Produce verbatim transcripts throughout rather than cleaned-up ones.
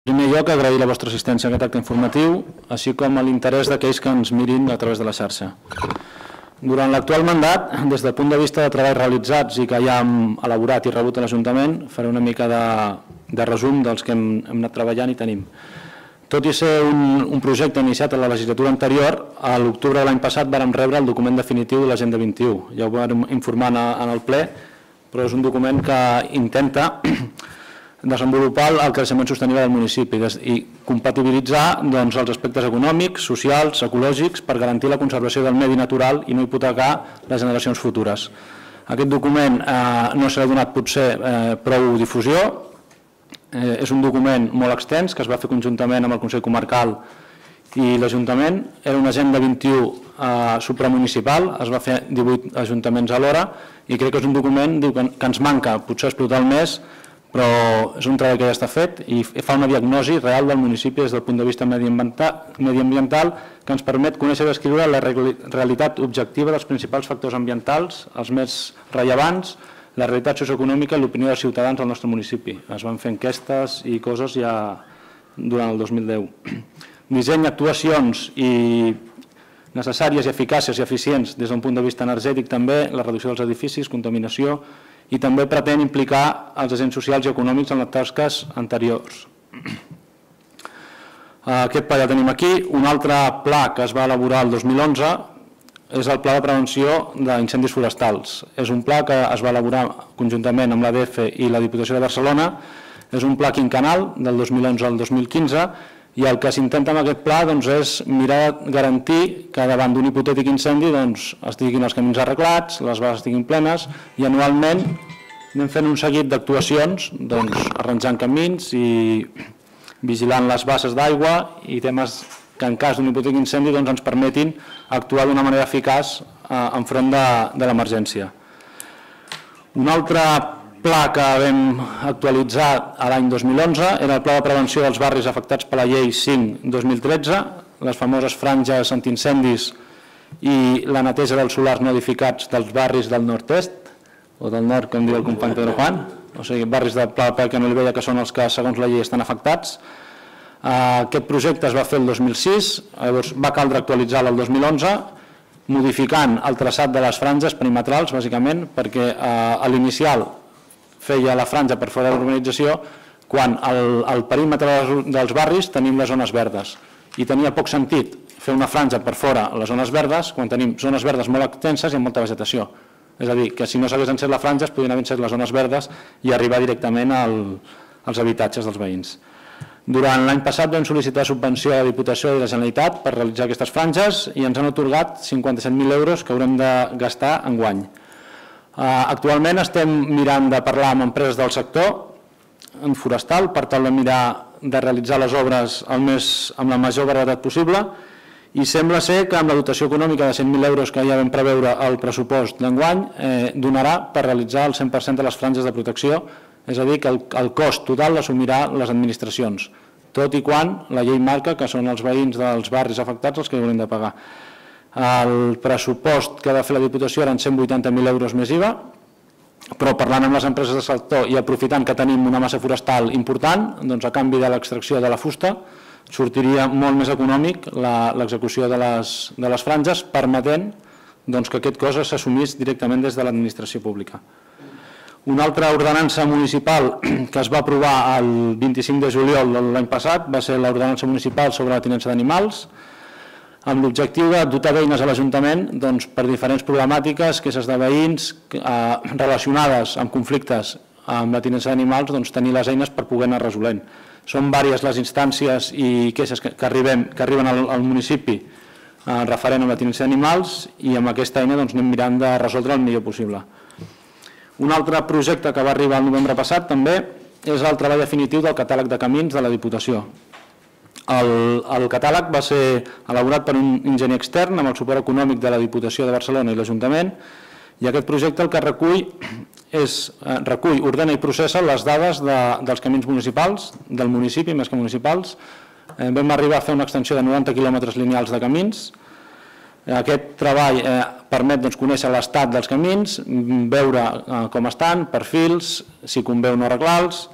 En primer lloc, agrair la vostra assistència a aquest acte informatiu, així com l'interès d'aquells que ens mirin a través de la xarxa. Durant l'actual mandat, des del punt de vista de treballs realitzats i que ja hem elaborat i rebut a l'Ajuntament, faré una mica de, de resum dels que hem, hem anat treballant i tenim. Tot i ser un, un projecte iniciat a la legislatura anterior, a l'octubre de l'any passat vàrem rebre el document definitiu de l'Agenda vint-i-u. Ja ho vam informar en el ple, però és un document que intenta desenvolupar el creixement sostenible del municipi i compatibilitzar doncs, els aspectes econòmics, socials, ecològics per garantir la conservació del medi natural i no hipotecar les generacions futures. Aquest document eh, no s'ha donat potser eh, prou difusió, eh, és un document molt extens que es va fer conjuntament amb el Consell Comarcal i l'Ajuntament. Era una agenda vint-i-u eh, supramunicipal, es va fer divuit ajuntaments alhora i crec que és un document diu, que, que ens manca potser explotar el més, però és un treball que ja està fet i fa una diagnosi real del municipi des del punt de vista mediambiental que ens permet conèixer i descriure la realitat objectiva dels principals factors ambientals, els més rellevants, la realitat socioeconòmica i l'opinió dels ciutadans del nostre municipi. Es van fer enquestes i coses ja durant el dos mil deu. Disseny, actuacions i necessàries i eficàcies i eficients des d'un punt de vista energètic també, la reducció dels edificis, contaminació, i també pretén implicar els agents socials i econòmics en les tasques anteriors. Aquest pla ja tenim aquí. Un altre pla que es va elaborar el dos mil onze és el Pla de Prevenció d'Incendis Forestals. És un pla que es va elaborar conjuntament amb l'A D F i la Diputació de Barcelona. És un pla quinquennal del dos mil onze al dos mil quinze i el que s'intenta amb aquest pla doncs, és mirar de garantir que davant d'un hipotètic incendi doncs, estiguin els camins arreglats, les bases estiguin plenes i anualment anem fent un seguit d'actuacions, doncs, arranjant camins i vigilant les bases d'aigua i temes que en cas d'un hipotètic incendi doncs, ens permetin actuar d'una manera eficaç eh, enfront de, de l'emergència. Un altre pla que vam actualitzar l'any dos mil onze era el Pla de Prevenció dels barris afectats per la Llei cinc dos mil tretze, les famoses franges antiincendis i la neteja dels solars no edificats dels barris del nord-est, o del nord, com diu el company Pedro Juan, o sigui, barris de Pla de Pelca i Olivella que són els que, segons la llei, estan afectats. Aquest projecte es va fer el dos mil sis, llavors va caldre actualitzar-lo el dos mil onze, modificant el traçat de les franges perimetrals, bàsicament, perquè a l'inicial feia la franja per fora de l'urbanització quan al perímetre dels barris tenim les zones verdes i tenia poc sentit fer una franja per fora les zones verdes quan tenim zones verdes molt extenses i amb molta vegetació. És a dir, que si no s'hagués encès la franja es podrien haver encès les zones verdes i arribar directament als habitatges dels veïns. Durant l'any passat vam sol·licitar subvenció a la Diputació i la Generalitat per realitzar aquestes franges i ens han atorgat cinquanta-set mil euros que haurem de gastar enguany. Actualment estem mirant de parlar amb empreses del sector forestal per tal de mirar de realitzar les obres amb la major brevetat possible i sembla ser que amb la dotació econòmica de cent mil euros que ja vam preveure al pressupost d'enguany donarà per realitzar el cent per cent de les franges de protecció, és a dir, que el cost total l'assumirà les administracions, tot i quan la llei marca que són els veïns dels barris afectats els que haurem de pagar. El pressupost que ha de fer la Diputació eren cent vuitanta mil euros més I V A, però parlant amb les empreses del sector i aprofitant que tenim una massa forestal important, doncs a canvi de l'extracció de la fusta, sortiria molt més econòmic l'execució de les franges, permetent que aquest cost s'assumís directament des de l'administració pública. Una altra ordenança municipal que es va aprovar el vint-i-cinc de juliol de l'any passat va ser l'ordenança municipal sobre la tinença d'animals, amb l'objectiu de dotar d'eines a l'Ajuntament per diferents problemàtiques, queixes de veïns relacionades amb conflictes amb la tinença d'animals, tenir les eines per poder anar resolent. Són diverses les instàncies i queixes que arriben al municipi referent a la tinença d'animals i amb aquesta eina anem mirant de resoldre el millor possible. Un altre projecte que va arribar el novembre passat també és el treball definitiu del catàleg de camins de la Diputació. El catàleg va ser elaborat per un enginyer extern amb el suport econòmic de la Diputació de Barcelona i l'Ajuntament i aquest projecte el que recull és recull, ordena i processa les dades dels camins municipals, del municipi més que municipals. Vam arribar a fer una extensió de noranta quilòmetres lineals de camins. Aquest treball permet conèixer l'estat dels camins, veure com estan, perfils, si convé o no arreglar-los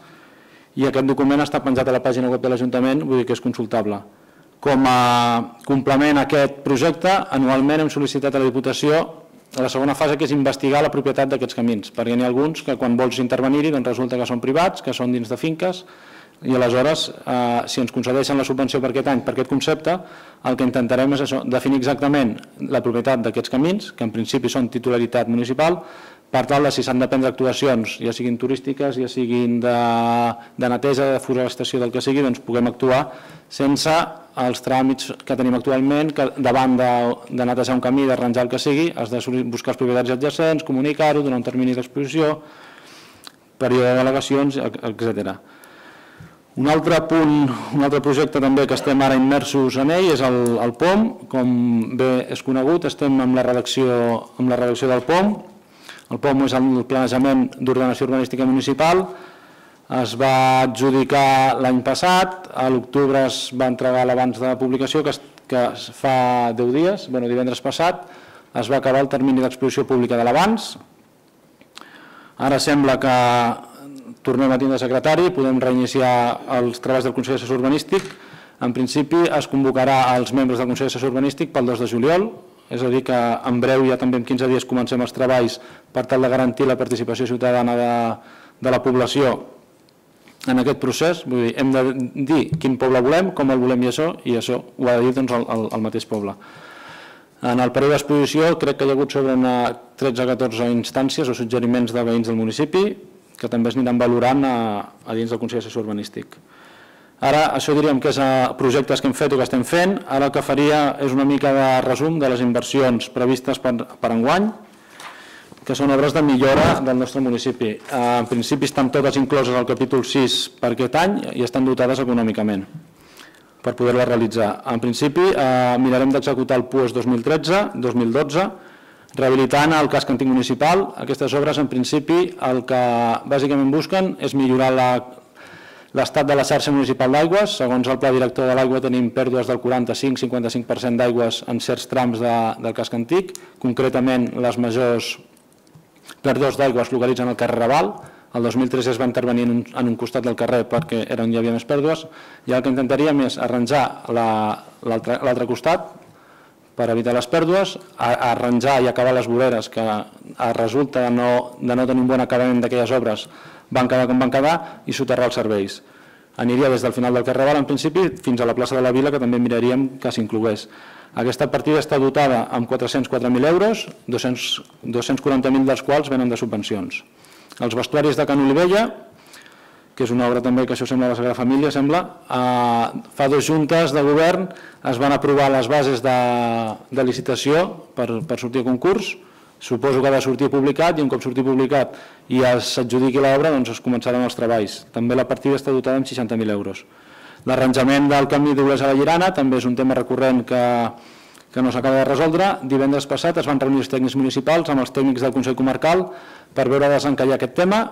i aquest document està penjat a la pàgina web de l'Ajuntament, vull dir que és consultable. Com a complement a aquest projecte, anualment hem sol·licitat a la Diputació a la segona fase, que és investigar la propietat d'aquests camins, perquè n'hi ha alguns que quan vols intervenir-hi resulta que són privats, que són dins de finques, i aleshores, si ens concedeixen la subvenció per aquest any, per aquest concepte, el que intentarem és definir exactament la propietat d'aquests camins, que en principi són titularitat municipal, per tal de si s'han de prendre actuacions, ja siguin turístiques, ja siguin de neteja, de forestació, del que sigui, doncs puguem actuar sense els tràmits que tenim actualment, que davant de netejar un camí, d'arranjar el que sigui, has de buscar els propietats adjacents, comunicar-ho, donar un termini d'exposició, període de delegacions, etcètera. Un altre punt, un altre projecte també que estem ara immersos en ell és el P O M. Com bé és conegut, estem amb la redacció del P O M. El P O M és el planejament d'ordenació urbanística municipal. Es va adjudicar l'any passat, a l'octubre es va entregar l'abans de publicació, que fa deu dies, divendres passat, es va acabar el termini d'exposició pública de l'abans. Ara sembla que tornem a tindre secretari, podem reiniciar els treballs del Consell Assessor Urbanístic. En principi es convocarà als membres del Consell Assessor Urbanístic pel dos de juliol, és a dir que en breu, ja també en quinze dies, comencem els treballs per tal de garantir la participació ciutadana de la població en aquest procés. Vull dir, hem de dir quin poble volem, com el volem i això, i això ho ha de dir el mateix poble. En el període d'exposició crec que hi ha hagut sobre tretze o catorze instàncies o suggeriments de veïns del municipi que també es aniran valorant a dins del Consell Assessor Urbanístic. Ara, això diríem que és projectes que hem fet o que estem fent. Ara el que faria és una mica de resum de les inversions previstes per enguany, que són obres de millora del nostre municipi. En principi estan totes incloses al capítol sis per aquest any i estan dotades econòmicament per poder-les realitzar. En principi mirarem d'executar el P U E S dos mil tretze dos mil dotze, rehabilitant el casc antic municipal. Aquestes obres, en principi, el que bàsicament busquen és millorar l'estat de la xarxa municipal d'aigües. Segons el pla director de l'aigua tenim pèrdues del quaranta-cinc a cinquanta-cinc per cent d'aigües en certs trams del casc antic. Concretament, les majors pèrdues d'aigua es localitzen al carrer Raval. El dos mil tres es va intervenir en un costat del carrer perquè era on hi havia més pèrdues. I el que intentaríem és arranjar l'altre costat per evitar les pèrdues, arranjar i acabar les voreres que resulta de no tenir un bon acabament d'aquelles obres, van quedar com van quedar, i soterrar els serveis. Aniria des del final del carrer Raval, en principi, fins a la plaça de la Vila, que també miraríem que s'inclogués. Aquesta partida està dotada amb quatre-cents quatre mil euros, dos-cents quaranta mil dels quals venen de subvencions. Els vestuaris de Can Olivella, que és una obra també que això sembla la Sagrada Família, sembla, fa dues juntes de govern es van aprovar les bases de licitació per sortir a concurs. Suposo que ha de sortir publicat i un cop surti publicat i s'adjudiqui l'obra doncs es començaran els treballs. També la partida està dotada amb seixanta mil euros. L'arranjament del camí d'Olesa a la Llerana també és un tema recurrent que no s'acaba de resoldre. Divendres passat es van reunir els tècnics municipals amb els tècnics del Consell Comarcal per veure de desencallar aquest tema.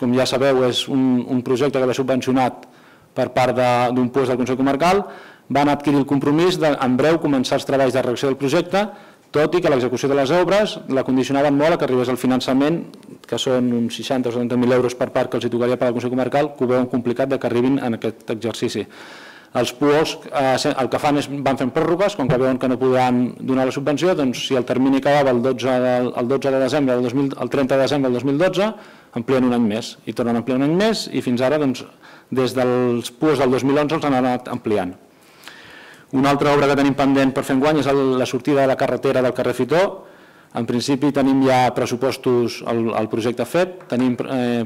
Com ja sabeu, és un projecte que ve subvencionat per part d'un P U E S del Consell Comarcal. Van adquirir el compromís d'en breu començar els treballs de redacció del projecte, tot i que l'execució de les obres la condicionaven molt a que arribés el finançament, que són uns seixanta o setanta mil euros per part que els tocaria per al Consell Comarcal, que ho veuen complicat que arribin en aquest exercici. Els P U E S el que fan és van fent pròrrogues, com que veuen que no podran donar la subvenció, doncs si el termini acabava el dotze de desembre, el trenta de desembre del dos mil dotze, amplien un any més, i tornen a ampliar un any més, i fins ara, des dels P U E S del dos mil onze, els han anat ampliant. Una altra obra que tenim pendent per fer enguany és la sortida de la carretera del carrer Fitó. En principi tenim ja pressupostos, el projecte fet, tenim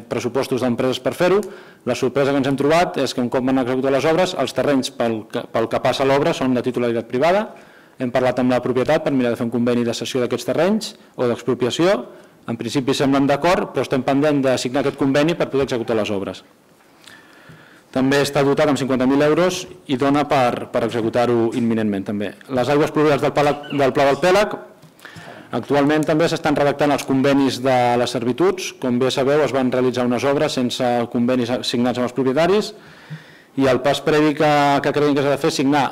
pressupostos d'empreses per fer-ho. La sorpresa que ens hem trobat és que un cop van executar les obres, els terrenys pel que passa l'obra són de titularitat privada. Hem parlat amb la propietat per mirar de fer un conveni de cessió d'aquests terrenys o d'expropiació. En principi semblen d'acord, però estem pendent de signar aquest conveni per poder executar les obres. També està dotat amb cinquanta mil euros i dona per executar-ho imminentment també. Les aigües pluvials del Pla del Pèlag, actualment també s'estan redactant els convenis de les servituds. Com bé sabeu, es van realitzar unes obres sense convenis signats amb els propietaris i el pas previ que creiem que s'ha de fer és signar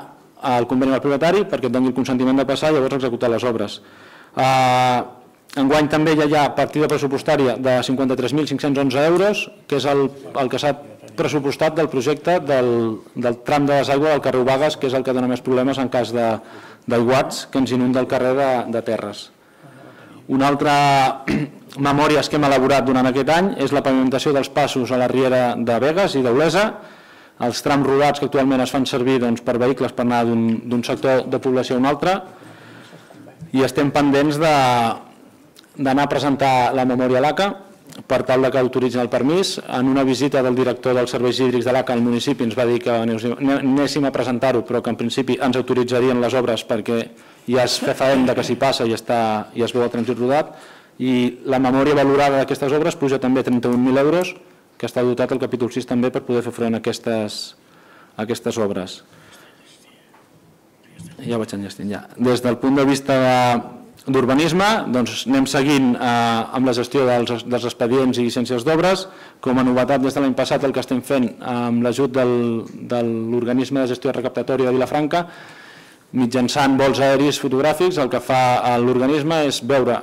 el conveni amb el propietari perquè et doni el consentiment de passar i llavors executar les obres. Enguany també hi ha partida pressupostària de cinquanta-tres mil cinc-cents onze euros, que és el que s'ha pressupostat del projecte del tram de desaigua del carrer Ubagues, que és el que dona més problemes en cas d'aiguats que ens inunda el carrer de Terres. Una altra memòria que hem elaborat durant aquest any és la pavimentació dels passos a la riera de Begues i d'Olesa, els trams rodats que actualment es fan servir per vehicles per anar d'un sector de població a un altre, i estem pendents d'anar a presentar la memòria a l'A C A per tal que autoritzin el permís. En una visita del director dels serveis hídrics de l'A C A al municipi ens va dir que anéssim a presentar-ho, però que en principi ens autoritzarien les obres perquè ja es fefaent que s'hi passa i es veu el trànsit rodat, i la memòria valorada d'aquestes obres puja també a trenta-un mil euros, que està dotat al capítol sis també per poder fer front a aquestes obres. Ja vaig enllestint, ja. Des del punt de vista d'urbanisme, anem seguint amb la gestió dels expedients i llicències d'obres. Com a novetat des de l'any passat el que estem fent amb l'ajut de l'organisme de gestió recaptatòria de Vilafranca, mitjançant vols aèris fotogràfics, el que fa l'organisme és veure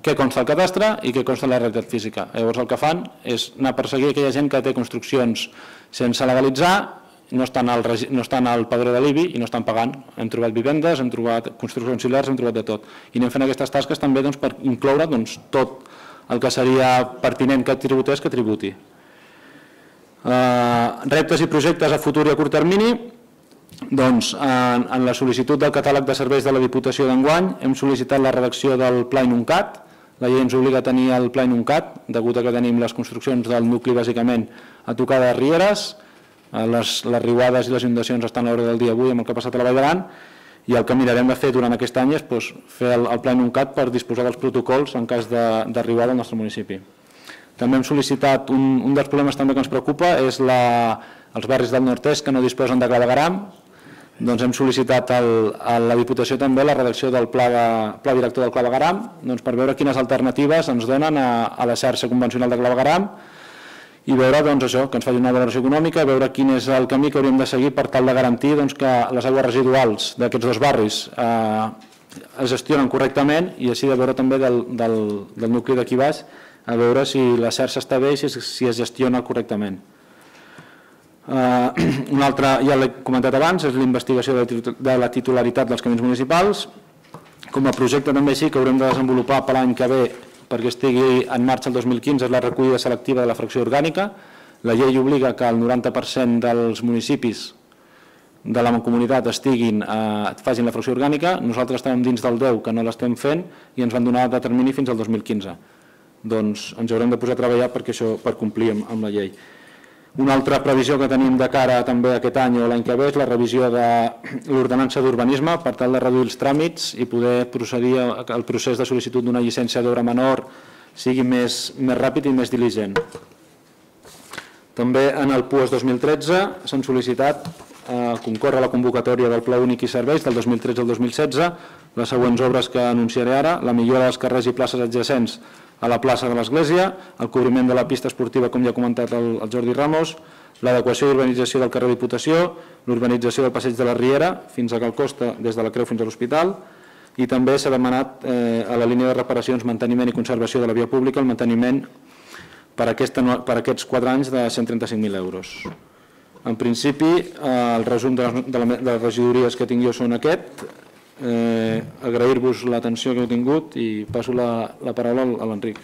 què consta al cadastre i què consta en la realitat física. Llavors el que fan és anar a perseguir aquella gent que té construccions sense legalitzar, no estan al padró de l'I B I i no estan pagant. Hem trobat vivendes, hem trobat construccions auxiliars, hem trobat de tot. I anem fent aquestes tasques també per incloure tot el que seria pertinent que tributés que tributi. Reptes i projectes a futur i a curt termini. Doncs en la sol·licitud del catàleg de serveis de la Diputació d'enguany hem sol·licitat la redacció del Pla INUNCAT. La llei ens obliga a tenir el Pla INUNCAT, degut a que tenim les construccions del nucli bàsicament a tocar de rieres, les riuades i les inundacions estan a l'hora del dia avui amb el que ha passat a la Vall d'Aran, i el que mirarem de fer durant aquest any és fer el Pla INUNCAT per disposar dels protocols en cas de riuada al nostre municipi. També hem sol·licitat, un dels problemes també que ens preocupa és els barris del nord-est que no disposen de clavegueram. Doncs hem sol·licitat a la Diputació també la redacció del Pla Director del clavegueram per veure quines alternatives ens donen a la xarxa convencional de clavegueram i veure això, que ens faci una valoració econòmica, veure quin és el camí que hauríem de seguir per tal de garantir que les aigües residuals d'aquests dos barris es gestionen correctament, i així de veure també del nucli d'aquí baix, a veure si la xarxa està bé i si es gestiona correctament. Un altre, ja l'he comentat abans, és la investigació de la titularitat dels camins municipals. Com a projecte també sí que haurem de desenvolupar per l'any que ve, perquè estigui en marxa el dos mil quinze, és la recollida selectiva de la fracció orgànica. La llei obliga que el noranta per cent dels municipis de la mancomunitat facin la fracció orgànica. Nosaltres estem dins del deu que no l'estem fent i ens van donar de termini fins al dos mil quinze. Doncs ens haurem de posar a treballar per complir amb la llei. Una altra previsió que tenim de cara també aquest any o l'any que ve és la revisió de l'ordenança d'urbanisme per tal de reduir els tràmits i poder procedir al procés de sol·licitud d'una llicència d'obra menor sigui més ràpid i més diligent. També en el P U E S dos mil tretze s'han sol·licitat concórrer a la convocatòria del Pla Únic i Serveis del dos mil tretze al dos mil setze les següents obres que anunciaré ara: la millora dels carrers i places adjacents a la plaça de l'Església, el cobriment de la pista esportiva, com ja ha comentat el Jordi Ramos, l'adequació i urbanització del carrer Diputació, l'urbanització del passeig de la Riera fins a Cal Costa, des de la Creu fins a l'Hospital, i també s'ha demanat a la línia de reparacions, manteniment i conservació de la via pública el manteniment per aquests quatre anys de cent trenta-cinc mil euros. En principi, el resum de les regidories que tinc jo són aquest. Agrair-vos l'atenció que heu tingut i passo la paraula a l'Enric.